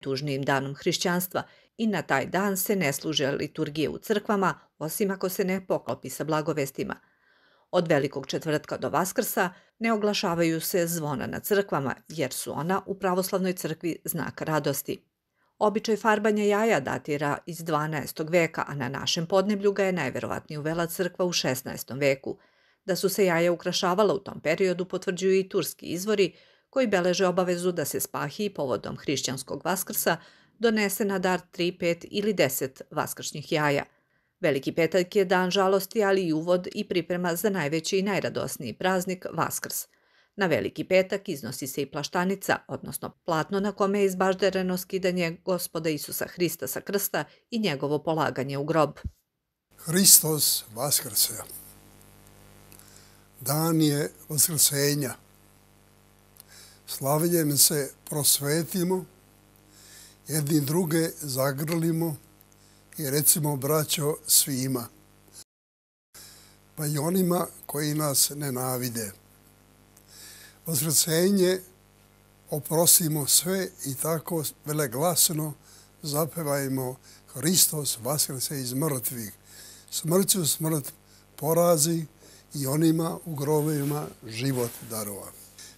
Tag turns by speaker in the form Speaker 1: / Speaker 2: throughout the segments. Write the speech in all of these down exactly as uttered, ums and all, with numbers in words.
Speaker 1: najtužnijim danom hrišćanstva i na taj dan se ne služe liturgije u crkvama, osim ako se ne poklopi sa blagovestima. Od Velikog četvrtka do Vaskrsa ne oglašavaju se zvona na crkvama, jer su ona u pravoslavnoj crkvi znak radosti. Običaj farbanja jaja datira iz dvanaestog veka, a na našem podneblju ga je najverovatnije uvela crkva u šesnaestom veku. Da su se jaja ukrašavala u tom periodu potvrđuju i turski izvori, koji beleže obavezu da se spahiji povodom hrišćanskog Vaskrsa donese na dar tri, pet ili deset vaskršnjih jaja. Veliki petak je dan žalosti, ali i uvod i priprema za najveći i najradosniji praznik Vaskrs. Na Veliki petak iznosi se i plaštanica, odnosno platno na kome je izbaždereno skidanje Gospoda Isusa Hrista sa krsta i njegovo polaganje u grob.
Speaker 2: Hristos vaskrse. Dan je vaskrsenja. Slavljem se prosvetimo, jedni druge zagrlimo i recimo braćo svima, pa i onima koji nas nenavide. Vaskrsenje oprostimo sve i tako veleglasno zapevajmo Hristos vaskrse iz mrtvih. Smrću smrt porazi i onima u grobovima život darova.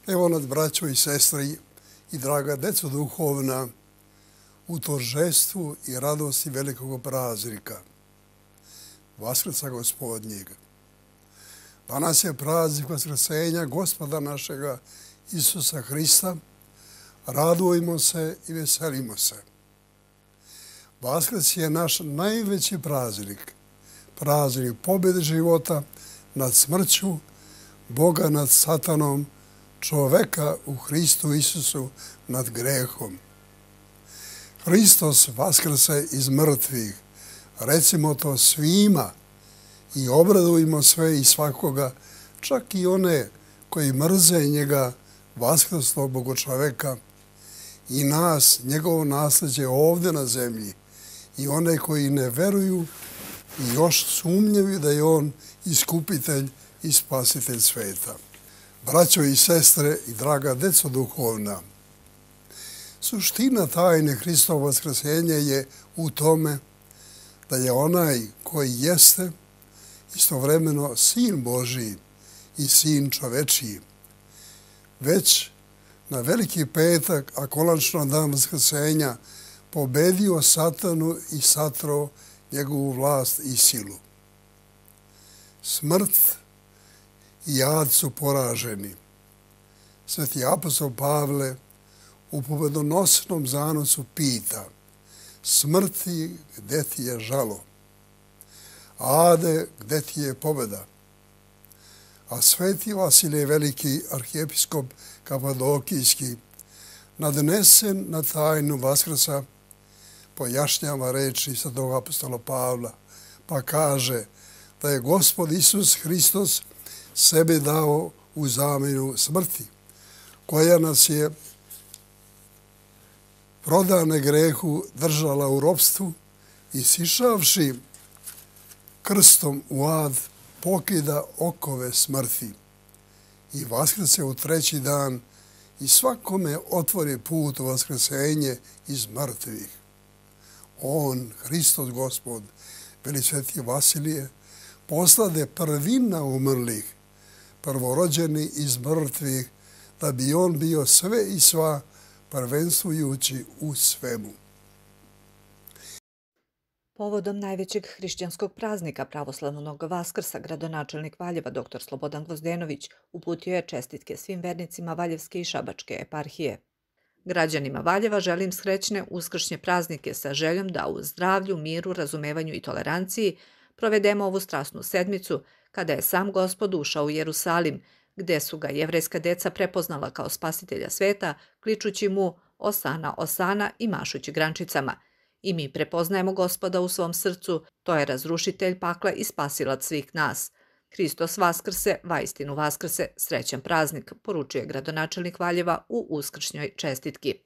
Speaker 2: Evo nas, braćo i sestri i draga deco duhovna, u toržestvu i radosti velikog praznika, Vaskrsa Gospodnjeg. Danas je praznik vaskrsenja Gospoda našega Isusa Hrista. Radujmo se i veselimo se. Vaskrs je naš najveći praznik, praznik pobjede života nad smrću, Boga nad satanom, čoveka u Hristu Isusu nad grehom. Hristos vaskrse iz mrtvih. Recimo to svima i obradujmo sve i svakoga, čak i one koji mrze njega, vaskrslog Bogočoveka, i nas, njegovo nasljeđe ovdje na zemlji, i one koji ne veruju i još sumnjaju da je on iskupitelj i spasitelj sveta. Braćo i sestre i draga deco duhovna, suština tajne Hristovo vaskrsenja je u tome da je onaj koji jeste istovremeno Sin Božiji i Sin čovečiji, već na Veliki petak, a konačno dan vaskrsenja, pobedio satanu i satro njegovu vlast i silu. Smrt i jad su poraženi. Sveti apostol Pavle u pobedonosnom zanosu pita: smrti, gde ti je žalo? Ade, gde ti je pobjeda? A sveti Vasilije Veliki, arhijepiskop Kapadokijski, nadnesen na tajnu Vaskrsa, pojašnjava reči svetog apostola Pavla, pa kaže da je Gospod Isus Hristos sebe dao u zamjenu smrti, koja nas je prodane grehu držala u ropstvu i sišavši krstom u ad pokida okove smrti i vaskrse u treći dan i svakome otvori put u vaskrsenje iz mrtvih. On, Hristos Gospod, veli sveti Vasilije, poslade prvina umrlih, prvorođeni iz mrtvih, da bi on bio sve i sva, prvenstvujući u svemu.
Speaker 1: Povodom najvećeg hrišćanskog praznika pravoslavnog Vaskrsa, gradonačelnik Valjeva dr Slobodan Gvozdenović uputio je čestitke svim vernicima Valjevske i Šabačke eparhije. Građanima Valjeva želim srećne uskršnje praznike sa željom da u zdravlju, miru, razumevanju i toleranciji provedemo ovu strasnu sedmicu kada je sam Gospod ušao u Jerusalim, gde su ga jevrejska deca prepoznala kao spasitelja sveta, kličući mu Osana, Osana i mašući grančicama. I mi prepoznajemo Gospoda u svom srcu, to je razrušitelj pakla i spasilac svih nas. Hristos vaskrse, vaistinu vaskrse, srećan praznik, poručuje gradonačelnik Valjeva u uskršnjoj čestitki.